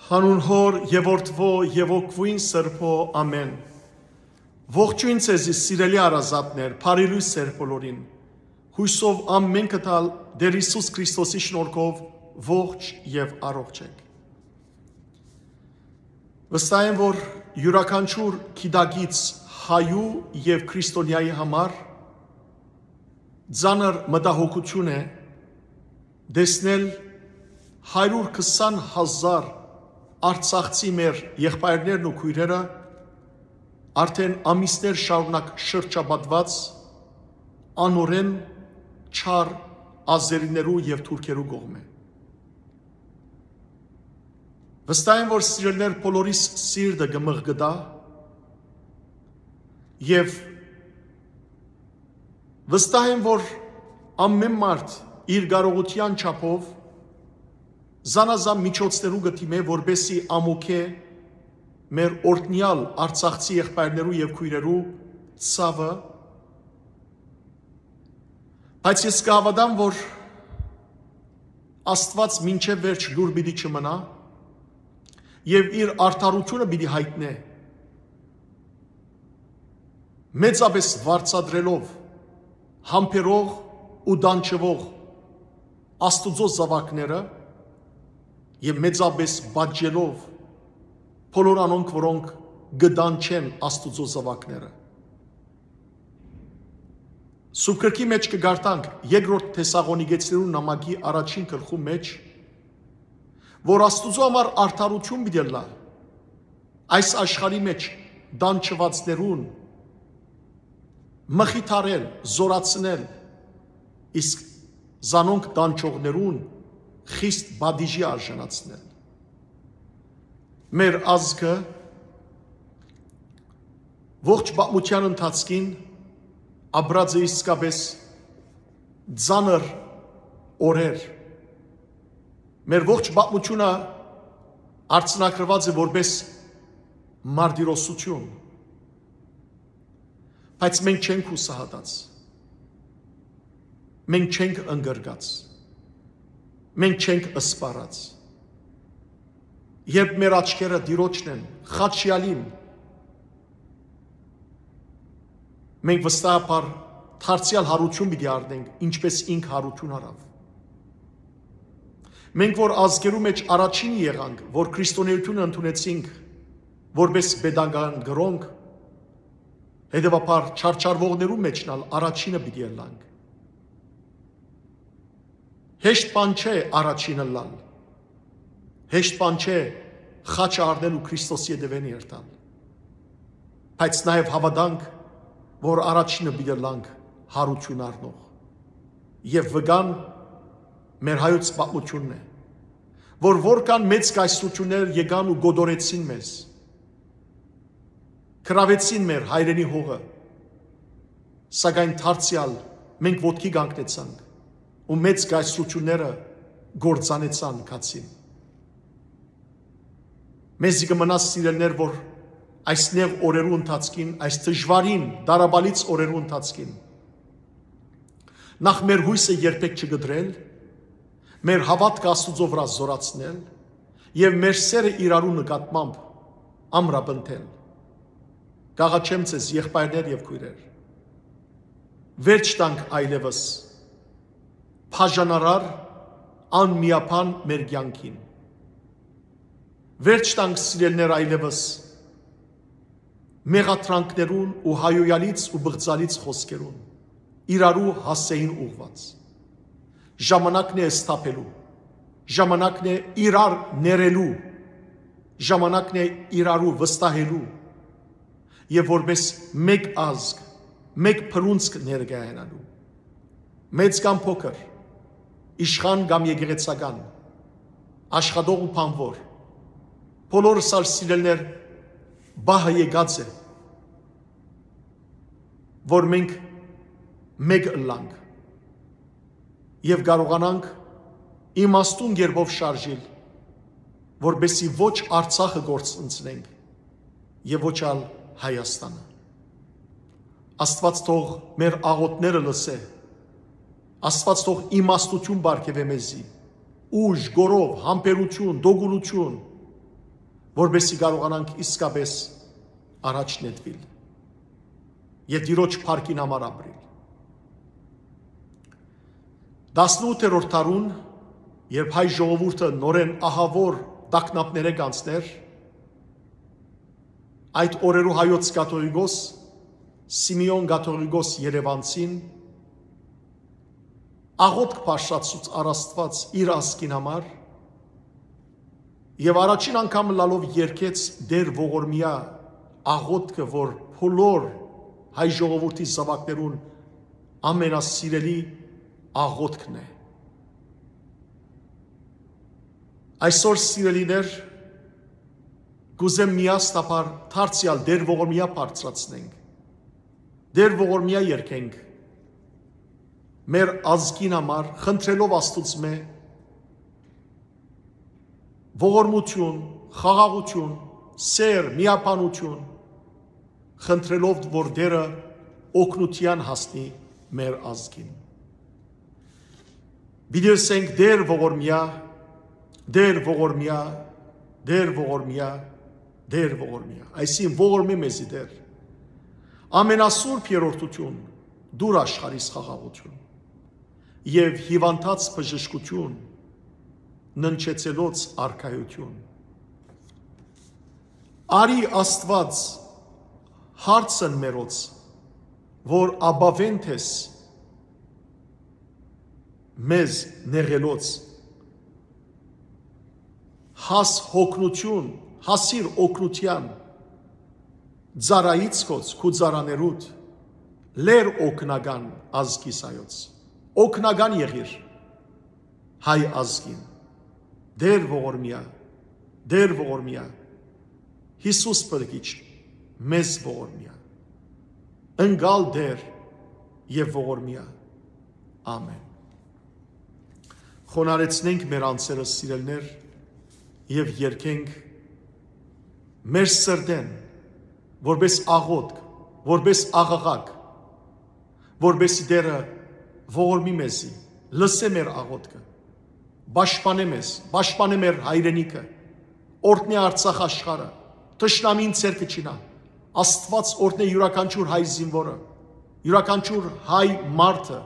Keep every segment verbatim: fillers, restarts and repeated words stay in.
Հանուն Հօր եւ Որդւոյ եւ Հոգւոյն Սրբոյ, ամէն։ Ողջոյն ձեզի, սիրելի հարազատներ, բարի լոյս ձեր բոլորին։ Յուսով ամէնքդ ալ Տէր Յիսուս Քրիստոսի շնորհքով ողջ եւ առողջ ենք։ Վստահ եմ, որ իւրաքանչիւր գիտակից հայու եւ քրիստոնեայի համար ծանր մտահոգութիւն է տեսնել հարիւր քսան հազար արցախցի մեր եղբայրներն ու քոյրերը արդէն ամիսներ շարունակ շրջապատուած անօրէն չար ազերիներու եւ թուրքերու կողմէ։ Վստահ եմ, որ սիրելիներ, բոլորիս սիրտը կը մղկտայ եւ վստահ եմ, որ ամէն մարդ իր կարողութեան չափով զանազան միջոցներու կը դիմէ, որպեսզի ամոքէ մեր օրհնեալ արցախցի եղբայրներու եւ քոյրերու ցաւը, բայց ես կը հաւատամ, որ Աստուած մինչեւ վերջ լուր պիտի չմնայ եւ իր արդարութիւնը պիտի յայտնէ, մեծապէս վարձատրելով համբերող ու տանջուող Աստուծոյ զաւակները եւ մեծապէս պատժելով բոլոր անոնք, որոնք կը տանջեն Աստուծոյ զաւակները։ Սուրբ Գրքի մէջ կը կարդանք երկրորդ Թեսաղոնիկեցիներու նամակի առաջին գլխու մէջ, որ Աստուծոյ համար արդարութիւն պիտի ըլլայ այս աշխարհի մէջ տանջուածներուն, մխիթարել, զօրացնել, իսկ զանոնք տանջողներուն խիստ պատիժի արժանացնել։ Մեր ազգը ողջ պատմութեան ընթացքին ապրած է իսկապէս ծանր օրեր։ Մեր ողջ պատմութիւնը արձանագրուած է որպէս մարտիրոսութիւն, բայց մենք չենք յուսահատած, մենք չենք ընկրկած, մենք չենք սպառած։ Երբ մեր աչքերը Տիրոջն են, խաչեալին, մենք վստահաբար դարձեալ յարութիւն պիտի առնենք, ինչպէս ինք յարութիւն առաւ։ Մենք, որ ազգերու մէջ առաջինը եղանք, որ քրիստոնէութիւնը ընդունեցինք որպէս պետական կրօնք, հետեւաբար չարչարուողներու մէջն ալ առաջինը պիտի ըլլանք։ Հեշտ բան չէ առաջինը ըլլալ։ Հեշտ բան չէ խաչը առնել ու Քրիստոսի ետեւէն երթալ։ Բայց նաեւ հաւատանք, որ առաջինը պիտի ըլլանք յարութիւն առնող։ Եւ վկան մեր հայոց պատմութիւնն է, որ որքան մեծ կայսրութիւններ եկան ու կոտորեցին մեզ, գրաւեցին մեր հայրենի հողը, սակայն դարձեալ մենք ոտքի կանգնեցանք ու մեծ կայսրութիւնները կործանեցան գացին։ Մեզի կը մնայ, սիրելիներ, որ այս նեղ օրերու ընթացքին, այս դժուարին, դարաբալից օրերու ընթացքին, նախ մեր յոյսը երբեք չկտրել, մեր հաւատքը Աստուծոյ վրայ զօրացնել եւ մեր սերը իրարու նկատմամբ ամրապնդել։ Կ'աղաչեմ ձեզ, եղբայրներ եւ քոյրեր, վերջ տանք այլեւս բաժանարար, անմիաբան մեր կեանքին։ Վերջ տանք, սիրելիներ, այլեւս մեղադրանքներուն ու հայոյալից ու բղծալից խօսքերուն, իրարու հասցեին ուղղուած։ Ժամանակն է սթափելու, ժամանակն է իրար ներելու, ժամանակն է իրարու վստահելու եւ որպես մէկ ազգ, մէկ բռունցք ներկայանալու։ Մեծ կամ փոքր, իշխան կամ եկեղեցական, աշխատող ու բանվոր, բոլորս ալ, սիրելիներ, պահը եկած է, որ մենք մէկ ըլլանք եւ կարողանանք իմաստուն կերպով շարժիլ, որպեսզի ոչ Արցախը կորցնենք եւ ոչ ալ Հայաստանը։ Աստուած թող մեր աղօթքները լսէ, Աստուած թող իմաստութիւն պարգեւէ մեզի, ուժ, գորով, համբերութիւն, դոգունութիւն, որպեսզի կարողանանք իսկապես առաջ նետուիլ եւ Տիրոջ փառքին համար ապրիլ։ Տասնութերորդ դարուն, երբ հայ ժողովուրդը նորէն ահաւոր տագնապներէ կանցներ, այդ օրերու հայոց կաթողիկոս Սիմէոն կաթողիկոս Երեւանցին աղօթք բարձրացուց առ Աստուած իր ազգին համար, եւ առաջին անգամ ըլլալով երգեց Տեր Ողորմեայ աղօթքը, որ բոլոր հայ ժողովուրդի զաւակներուն ամենասիրելի աղօթքն է։ Այսօր, սիրելիներ, կ'ուզեմ միասնաբար դարձեալ Տեր Ողորմեայ բարձրացնենք, Տեր Ողորմեայ երգենք մեր ազգին համար, խնդրելով Աստուծմէ ողորմութիւն, խաղաղութիւն, սէր, միաբանութիւն, խնդրելով, որ Տերը օգնութեան հասնի մեր ազգին։ Պիտի ըսենք. «Տեր Ողորմեայ, Տեր Ողորմեայ, Տեր Ողորմեայ, Տեր Ողորմեայ»։ Այսինքն՝ ողորմէ մեզի, Տեր։ Ամենասուրբ երրորդութիւն, տուր աշխարհիս խաղաղութիւն եւ հիւանդաց բժշկութիւն, ննջեցելոց արքայութիւն։ Արի, Աստուած, հարցն մերոց, որ ապաւեն թես մեզ նեղելոց, հաս օգնութիւն, հասիր օգնութեան ծառայից քոց, քու ծառաներուդ, լեր օգնական ազգիս հայոց, օգնական եղիր հայ ազգին, Տեր Ողորմեայ, Տեր Ողորմեայ, Յիսուս Փրկիչ, մեզ ողորմեայ, ընկալ Տեր եւ ողորմեայ։ Ամեն։ Խոնարհեցնենք մեր անձերը, սիրելիներ, եւ երգենք մեր սրտէն, որպես աղօթք, որպես աղաղակ, որպեսզի Տերը ողորմի մեզի, լսէ մեր աղօթքը, պաշտպանէ մեզ, պաշտպանէ մեր հայրենիքը, օրհնէ Արցախ աշխարհը, թշնամին ձեռքը չինայ։ Աստուած օրհնէ իւրաքանչիւր հայ զինուորը, իւրաքանչիւր հայ մարդը,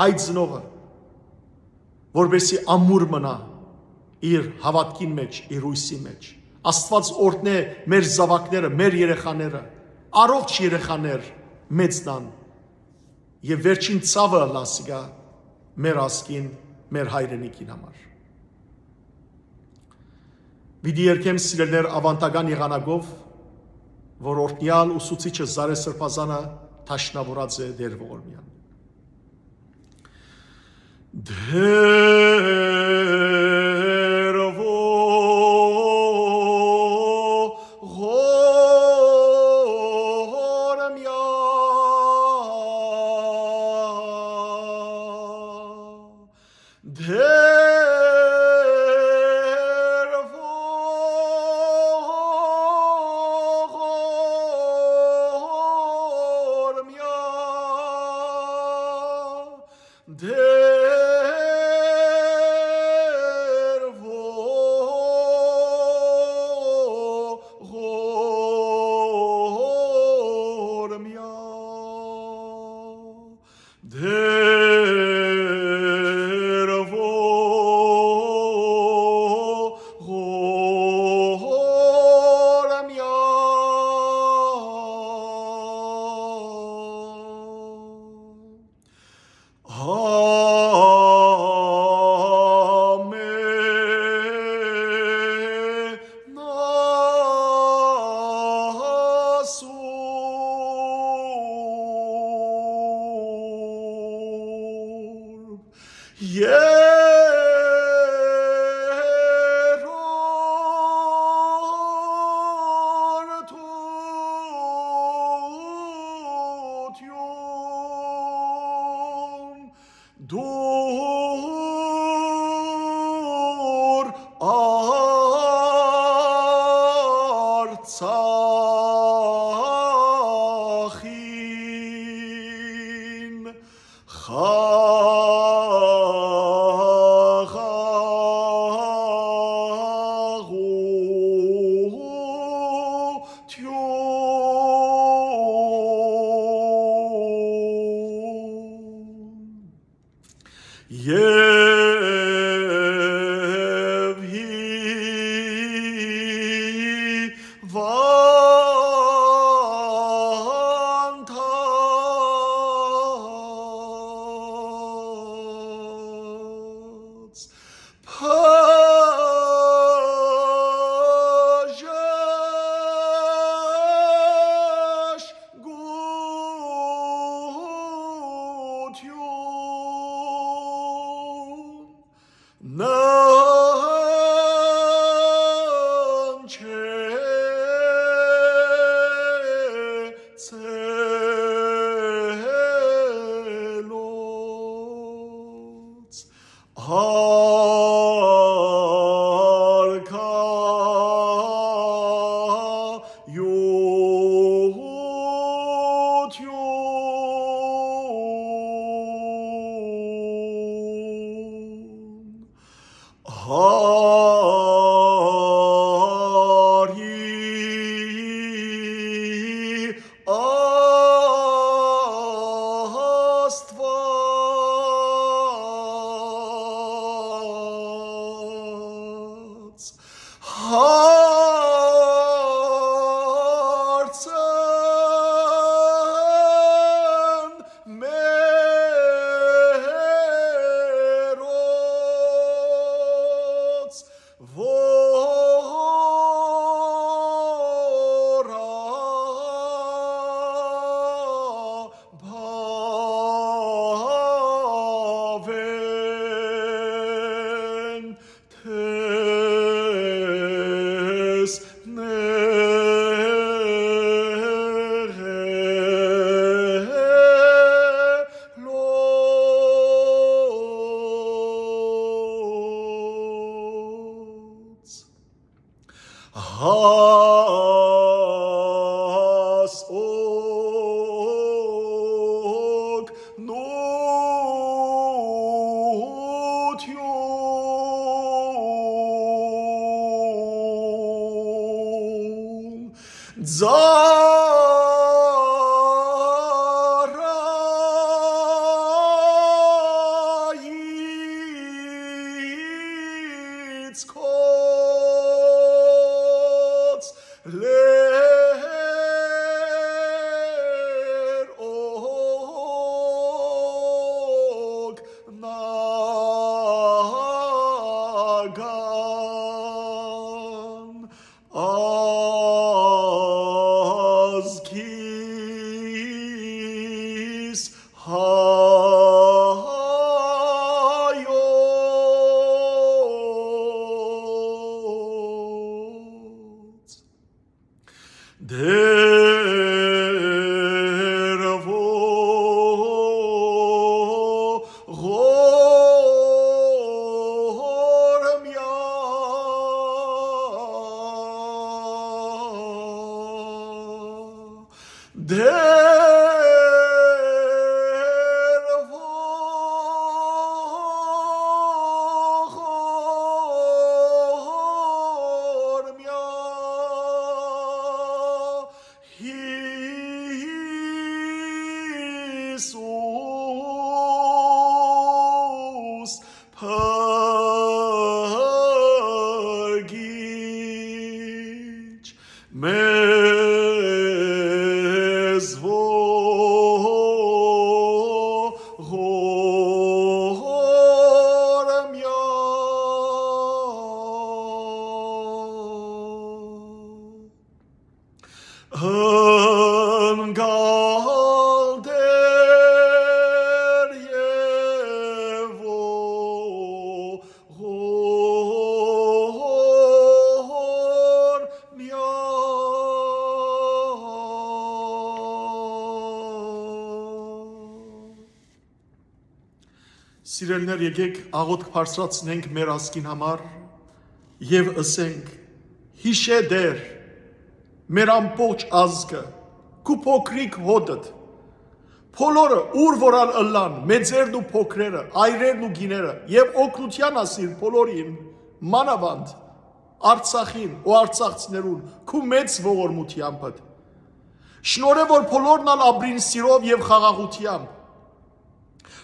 հայ ծնողը, որպեսզի ամուր մնայ իր հաւատքին մէջ, իր յուսի մէջ։ Աստուած օրհնէ մեր զաւակները, մեր երեխաները, առողջ երեխաներ մեծնան եւ վերջին ցաւը ըլլայ ասիկա մեր ազգին, մեր հայրենիքին համար։ Պիտի երգեմ, սիրելիներ, աւանդական եղանակով, որ օրհնեալ ուսուցիչը Զարե Սրբազանը դաշնաւորած է Տեր Ողորմեան։ Տեր Ողորմեայ, Տեր Ողորմեայ, Տեր Ողորմեայ, Տեր Ողորմեայ։ Երրորդութիւն, տուր Արցախին խաղաղ Հարցն մերոց, որ աբաւեն տեսնելոց հաս օգնութիւն ծառայից կ'ելլեր օգնական ազգիս հայոց։ Տէր ողորմեա, Տէր ողորմեա, Յիսուս փրկիչ մեզ ողորմեա։ Անկալ Տէր եւ ողորմեա։ Սիրելիներ, եկեք աղօթք բարձրացնենք մեր ազգին համար եւ ըսենք. «Յիշէ, Տէր, մեր ամբողջ ազգը, քու փոքրիկ հօտդ, բոլորը, ուր որ ալ ըլլան, մեծերն ու փոքրերը, այրերն ու կիները, եւ օգնութեան ասիր բոլորին, մանաւանդ Արցախին ու արցախցիներուն, քու մեծ ողորմութեամբդ։ Շնորհէ, որ բոլորն ալ ապրին սիրով եւ խաղաղութեամբ,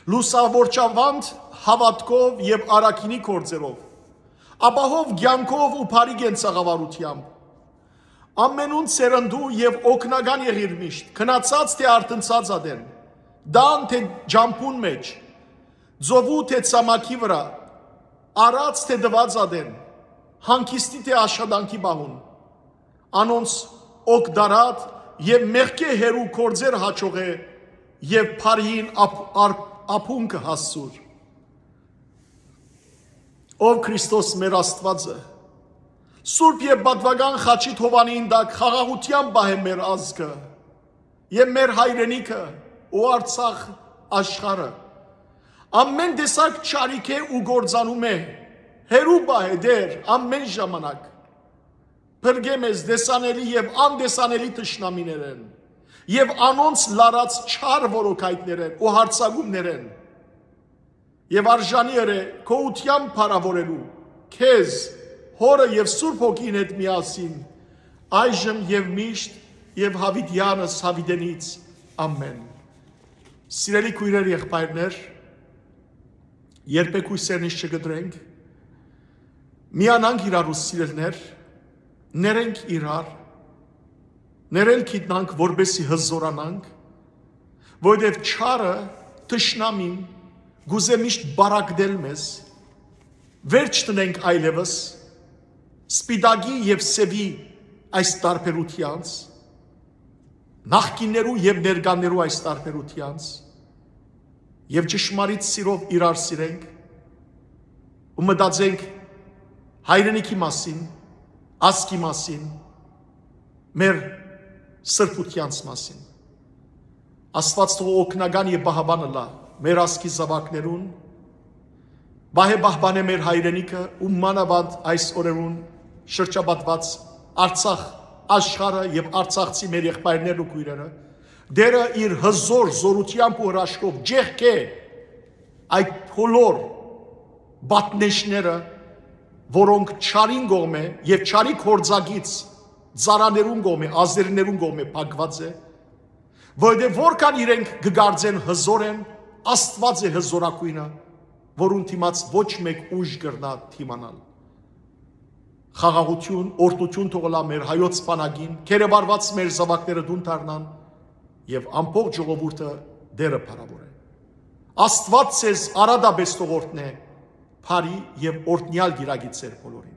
լուսաւորչավանդ հաւատքով եւ առաքինի գործերով, ապահով կեանքով ու բարի կենցաղավարութեամբ։ Ամենուն սերնդու եւ օգնական եղիր միշտ, քնացած թէ արթնցած ատեն, տան թէ ճամբուն մէջ, ծովու թէ ցամաքի վրայ, առած թէ տուած ատեն, հանգիստի թէ աշխատանքի պահուն, անոնց օգտարատ եւ մեղքէ հեռու գործեր հաճողէ եւ բարիին ափ-, արփ-, ափունքը հասցուր։ Ով Քրիստոս մեր Աստուածը, Սուրբ եւ Պատուական խաչի թովանին տակ խաղաղութեան պահէ մեր ազգը եւ մեր հայրենիքը ու Արցախ աշխարհը։ Ամեն տեսակ չարիքէ ու գործանումէ հեռու պահէ, Տէր, ամեն ժամանակ։ Փրկէ մեզ տեսանելի եւ անտեսանելի թշնամիներէն եւ անոնց լարած չար որոքայտներէն ու յարձակումներէն։ Եւ արժանի ըրէ քոութեան փառաւորելու քեզ, Հօրը եւ Սուրբ Հոգին հետ միասին, այժմ եւ միշտ եւ յաւիտեանս յաւիտենից։ Ամեն։ Սիրելի քոյրեր, եղբայրներ, երբեք յոյսերնից չկտրենք, Միանանք իրարու, սիրելիներ, ներենք իրար, ներել գիտնանք, որպեսզի հզորանանք, որովհետեւ չարը, թշնամին, կ'ուզէ միշտ պառակտել մեզ, վերջ դնենք այլեւս սպիտակի եւ սեւի այս տարբերութեանց, նախկիններու եւ ներկաներու այս տարբերութեանց, եւ ճշմարիտ սիրով իրար սիրենք ու մտածենք հայրենիքի մասին, ազգի մասին, մեր սրբութեանց մասին։ Աստուած թող օգնական եւ պահապան ըլլայ մեր ազգի զաւակներուն, պահէ պահպանէ մեր հայրենիքը ու մանաւանդ այս օրերուն շրջապատուած Արցախ, աշխարհը եւ արցախցի մեր եղբայրներն ու քոյրերը։ Տէրը իր հզոր զօրութեամբ ու հրաշքով ջեղկէ այդ բոլոր պատնեշները, որոնք չարին կողմէ եւ չարի գործակից ծառաներուն կողմէ, ազերիներուն կողմէ փակուած է, որովհետեւ որքան իրենք կը կարծեն հզոր են, Աստուած է հզորագոյնը, որուն դիմաց ոչ մէկ ուժ կրնայ դիմանալ։ Խաղաղութիւն, օրհնութիւն թող ըլլայ մեր հայոց բանակին, գերեվարուած մեր զաւակները տուն դառնան եւ ամբողջ ժողովուրդը Տէրը փառաւորէ։ Աստուած ձեզ արատապէս թող օրհնէ, բարի եւ օրհնեալ կիրակի ձեր բոլորին։